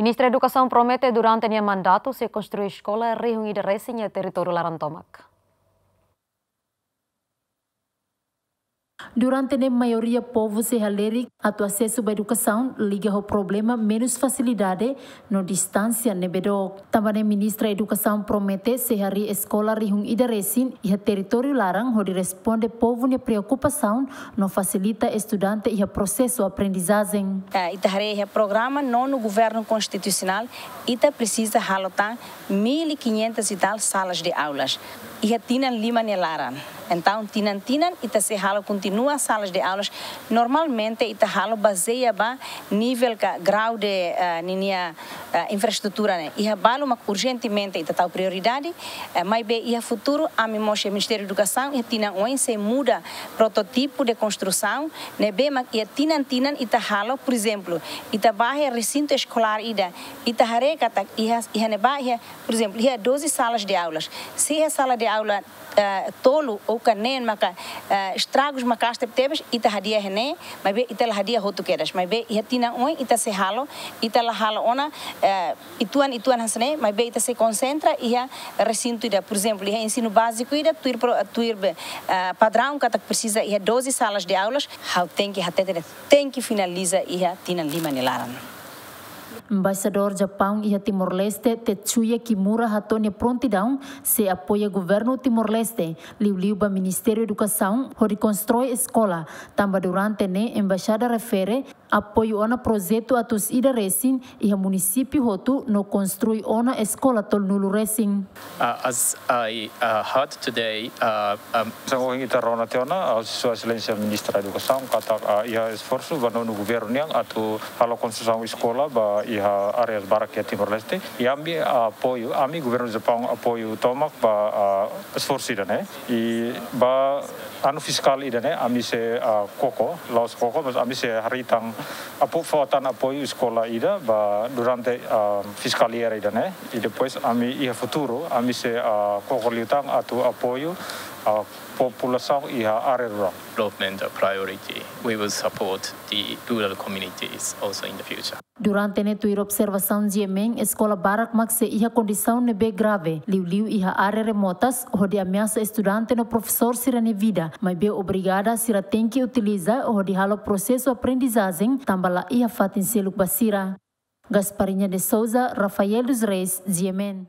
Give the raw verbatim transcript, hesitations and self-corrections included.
Ministra Edukasaun promete durante nia mandatu sei konstrui eskola rihun ida resin iha territóriu laran tomak. Durante ne'e maioria povu sei halerik atu asesu ba edukasaun liga ho problema menus fasilidade no distánsia ne'ebé dook. Tanba ne'e Ministra Edukasaun promete sei harii eskola rihun ida resin iha territóriu laran hodi responde povu nia preokupasaun no fasilita estudante iha prosesu aprendizajen. Eh, ita haree iha programa nonu governu konstitusionál, ita presiza halo tan mil e quinhentas e tal salas de aulas iha tinan lima nia laran. Entaun, tinan-tinan ita sei halo kontinua salas de aulas. Normalmente ita halo bazeia ba nivel ka grau de, eh, ninia, eh, infraestrutura ne'e. Iha balu mak urjentemente ita tau prioridade, eh, maibé iha futuru, ami mós iha Ministériu Edukasaun, iha tinan oin sei muda prototipu de konstrusaun ne'ebé mak iha tinan-tinan ita halo, por ezemplu, ita bá iha resintu eskolár ida, ita haree katak iha, iha ne'ebá iha, por ezemplu, iha doze salas de aulas. Se iha sala de aula, eh, tolu ou ka neen maka, eh, estragus maka'as tebetebes, ita hadi'a iha ne'e, maibé ita la hadi'a hotu kedas. Maibé iha tinan oin ita sei halo, ita la halo ona, eh, uitoan, uitoan hanesan ne'e, maibé ita sei konsentra iha resintu ida, por ezemplu, iha ensinu báziku ida, tuir pro-, tuir be, eh, padraun katak presiza iha doze salas de aulas, ha'u tenke hatete de'it, tenke finaliza iha tinan lima nia laran. Embaixadór Japaun iha Timor-Leste, Tetsuya Kimura hato'o nia prontidaun sei apoia governu Timor-Leste, liuliu ba Ministériu Edukasaun, hodi konstrui eskola, tanba durante ne'e embaixada refere apoiu ona projetu atus ida resin iha munisípiu hotu no konstrui ona eskola tolunulu resin. Uh, as I, uh, heard today, uh, um, Hanesan ohin ita rona tiha ona, uh, Sua Exelénsia Ministra Edukasaun katak, uh, iha esforsu ba nonu governu nian atu halo konstrusaun eskola ba iha áreas barak iha Timor-Leste. I ami, uh, apoiu, ami governu Japaun apoiu tomak ba, uh, esforsu ida-ne'e. I ba anu fiskál ida-ne'e, ami sei, uh, koko, la'ós koko, mas ami sei harii tan apo-, fó tan apoiu eskola ida ba durante, uh, fiskál ida-ne'e. I depois ami iha futuru, ami sei, uh, koko liután atu apoiu, uh, populasaun iha área rurál. Development a priority. We will support the rural communities also in the future. Durante ne'e tuir observasaun G M N, eskola barak mak sei iha kondisaun ne'ebé grave, liuliu iha área remotas, hodi ameasa estudante no profesór sira-nia vida, maibé obrigada sira tenke utiliza hodi halo prosesu aprendizajen, tanba la iha fatin seluk ba sira. Gasparinha de Souza, Rafael dos Reis, G M N.